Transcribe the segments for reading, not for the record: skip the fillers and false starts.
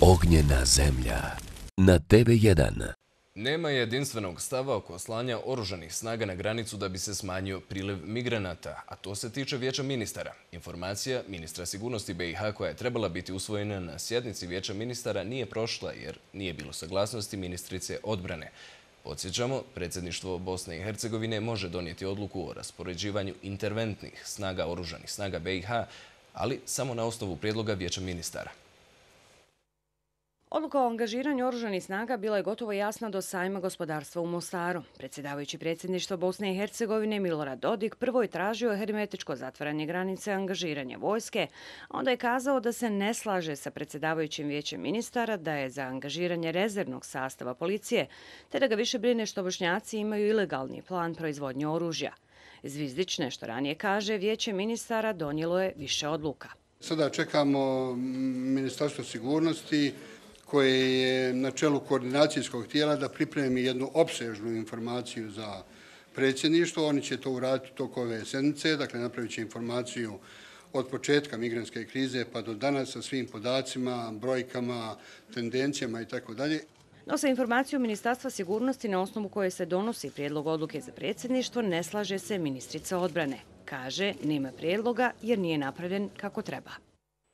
Ognjena zemlja. Na TV1. Nema jedinstvenog stava oko slanja oružanih snaga na granicu da bi se smanjio priliv migranata, a to se tiče Vijeća ministara. Informacija ministra sigurnosti BiH koja je trebala biti usvojena na sjednici Vijeća ministara nije prošla jer nije bilo saglasnosti ministrice odbrane. Podsjećamo, predsjedništvo Bosne i Hercegovine može donijeti odluku o raspoređivanju interventnih snaga oružanih snaga BiH, ali samo na osnovu prijedloga Vijeća ministara. Odluka o angažiranju oružanih snaga bila je gotovo jasna do sajma gospodarstva u Mostaru. Predsjedavajući predsjedništva Bosne i Hercegovine Milorad Dodik prvo je tražio hermetičko zatvaranje granice, angažiranje vojske, a onda je kazao da se ne slaže sa predsjedavajućim Vijećem ministara, da je za angažiranje rezervnog sastava policije, te da ga više brine što Bošnjaci imaju ilegalni plan proizvodnje oružja. Zvizdić nešto ranije kaže, Vijeće ministara donijelo je više odluka. Sada čekamo Ministarstvo sigurnosti koje je na čelu koordinacijskog tijela da pripremi jednu opsežnu informaciju za predsjedništvo. Oni će to uraditi u toku ove sedmice, dakle napravit će informaciju od početka migrantske krize pa do danas sa svim podacima, brojkama, tendencijama itd. No sa informacijom Ministarstva sigurnosti na osnovu koje se donosi prijedlog odluke za predsjedništvo ne slaže se ministrica odbrane. Kaže, nema prijedloga jer nije napravljen kako treba.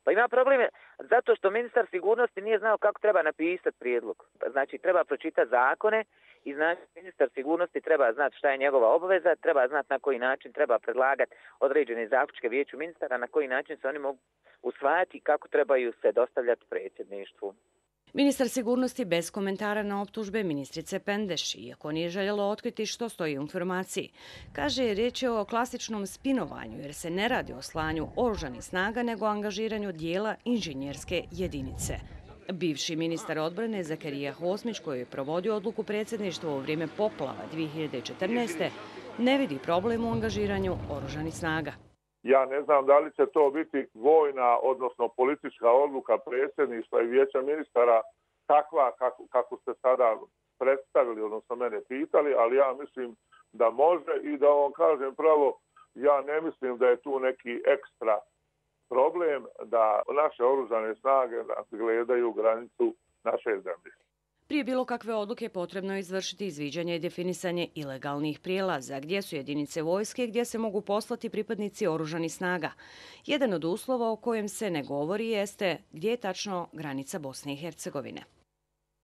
Pa ima probleme zato što ministar sigurnosti nije znao kako treba napisati prijedlog. Znači, treba pročitati zakone i znači ministar sigurnosti treba znati šta je njegova obaveza, treba znati na koji način treba predlagati određene zaključke Vijeću ministara, na koji način se oni mogu usvajati i kako trebaju se dostavljati predsjedništvu. Ministar sigurnosti bez komentara na optužbe ministrice Pendeš, iako nije željelo otkriti što stoji u informaciji. Kaže, riječ je o klasičnom spinovanju jer se ne radi o slanju oružanih snaga nego o angažiranju dijela inženjerske jedinice. Bivši ministar odbrane Zakarija Hosmić, koji je provodio odluku predsjedništva u vrijeme poplava 2014. ne vidi problem u angažiranju oružanih snaga. Ja ne znam da li će to biti vojna, odnosno politička odluka predsjedništva i Vijeća ministara takva kako ste sada predstavili, odnosno mene pitali, ali ja mislim da može i da vam kažem pravo, ja ne mislim da je tu neki ekstra problem da naše oružane snage gledaju granicu naše zemlje. Prije bilo kakve odluke potrebno je izvršiti izviđanje i definisanje ilegalnih prijelaza, gdje su jedinice vojske, gdje se mogu poslati pripadnici oružanih snaga. Jedan od uslova o kojem se ne govori jeste gdje je tačno granica Bosne i Hercegovine.